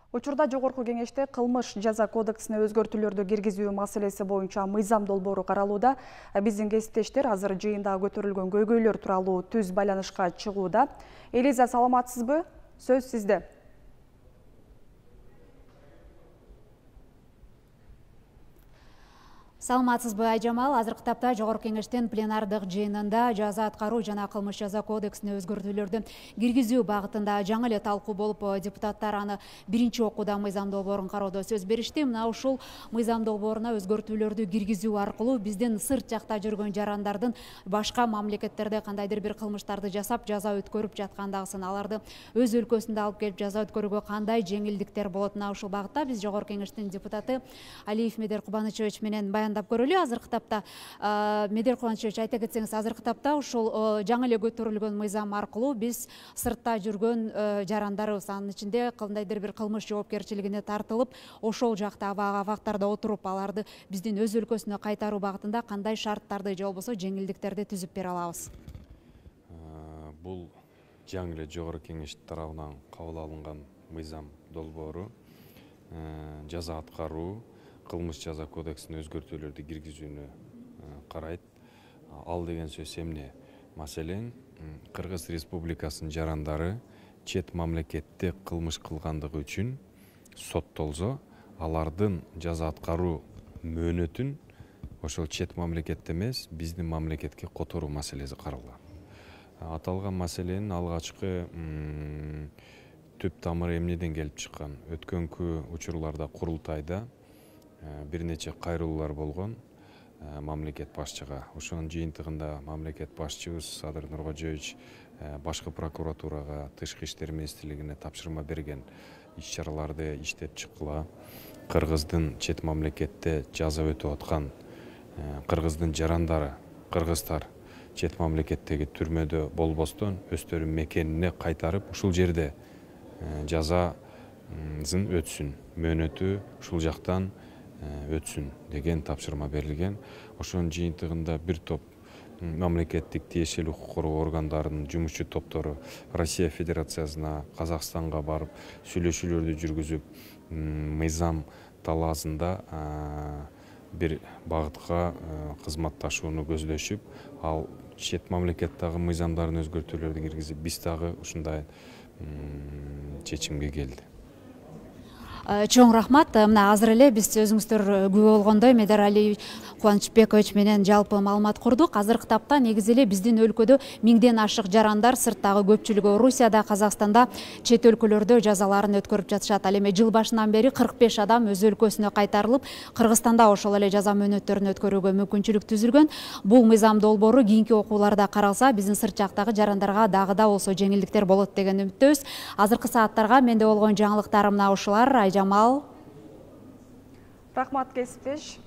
Учурда Жогорку кеңеште кылмыш жаза кодексине өзгөртүүлөрдү киргизүү маселеси боюнча мыйзам долбоору каралууда. Биздин кесиптештер азыр жыйында көтөрүлгөн көйгөйлөр тууралуу түз байланышка чыгууда. Элиза, саламатсызбы? Сөз сизде. Саламатсызбы, Айжамал. Азыркы тапта Жогорку кеңештин пленардык жыйынында жаза аткаруу жана кылмыш жаза кодексине өзгөртүүлөрдү киргизүү багытында жаңы эле талкуу болуп, депутаттар аны биринчи окууда мыйзам долбоорун кароодо сөз беришти. Мына ушул мыйзам долбооруна өзгөртүүлөрдү киргизүү аркылуу биздин сырт жакта жүргөн жарандардын башка мамлекеттерде кандайдыр бир кылмыштарды жасап, жаза өткөрүп жаткандагысын, аларды өз өлкөсүндө алып келип жаза өткөрүүгө кандай жеңилдиктер болот. Мына ушул багытта биз Жогорку кеңештин депутаты Алиев Медер Кубанычевич менен баяндап көрөлү. Азыркы тапта Медер Кубанычевич, айта кетсеңиз, азыркы тапта ушул жаңы эле көтөрүлгөн мыйзам аркылуу биз сыртта жүргөн жарандарыбыз, анын ичинде кандайдыр бир кылмыш жоопкерчилигине тартылып, ошол жакта абактарда отуруп, аларды биздин өз өлкөсүнө кайтаруу багытында кандай шарттарды же болбосо жеңилдиктерди түзүп бере алабыз? Бул жаңы эле Жогорку кеңеш тарабынан кабыл алынган мыйзам долбоору жаза аткаруу, кылмыш жаза кодексине өзгөртүүлөрдү киргизүүнү карайт. Ал деген сөз эмне? Маселен, Кыргыз Республикасынын жарандары чет мамлекетте кылмыш кылгандыгы үчүн соттолсо, алардын жаза аткаруу мөөнөтүн ошол чет мамлекетте эмес, биздин мамлекетке которуу маселеси каралган. Аталган маселенин алгачкы түп тамыры эмнеден келип чыккан? Өткөнкү учурларда курултайда бир нече кайрылуулар болгон мамлекет башчыга. Ошонун жыйынтыгында мамлекет башчыбыз Садыр Нуркожоевич башкы прокуратурага, Тышкы иштер министрлигине тапшырма берген, иш-чараларды иштеп чыккыла. Кыргыздын чет мамлекетте жаза өтүп аткан кыргыздын жарандары, кыргыздар чет мамлекеттеги түрмөдө болбостон өздөрүнүн мекенине кайтарып, ушул жерде жазасын өтсүн, мөөнөтү ушул жактан өтсүн деген тапшырма берилген. Ошонун жыйынтыгында бир топ мамлекеттик тиешелүү укук коргоо органдарынын жумушчу топтору Россия Федерациясына, Казакстанга барып сүйлөшүүлөрдү жүргүзүп, мыйзам талаасында бир багытка кызматташууну көздөшүп, ал чет мамлекеттеги мыйзамдарын өзгөртүүлөрдү киргизип, биз дагы ушундай чечимге келди. Чоң рахмат. Мына азыр эле биз өзүңүздөр күбө болгондой Медер Алиев Кубанычбекович менен жалпы маалымат курдук. Азыркы тапта негизи эле биздин өлкөдө миңден ашык жарандар, сырттагы көпчүлүгү Орусияда, Казакстанда, чет өлкөлөрдө жазаларын өткөрүп жатышат. Ал эми жыл башынан бери 45 адам өз өлкөсүнө кайтарылып, Кыргызстанда ошол эле жаза мөөнөттөрүн өткөрүүгө мүмкүнчүлүк түзүлгөн. Бул мыйзам долбоору кийинки окууларда каралса, биздин сырт жактагы жарандарга дагы да болсо жеңилдиктер болот деген үмүттөбүз. Азыркы сааттарга менде болгон жаңылыктар мына ушулар. Айжамал. Рахмат, кесиптеш.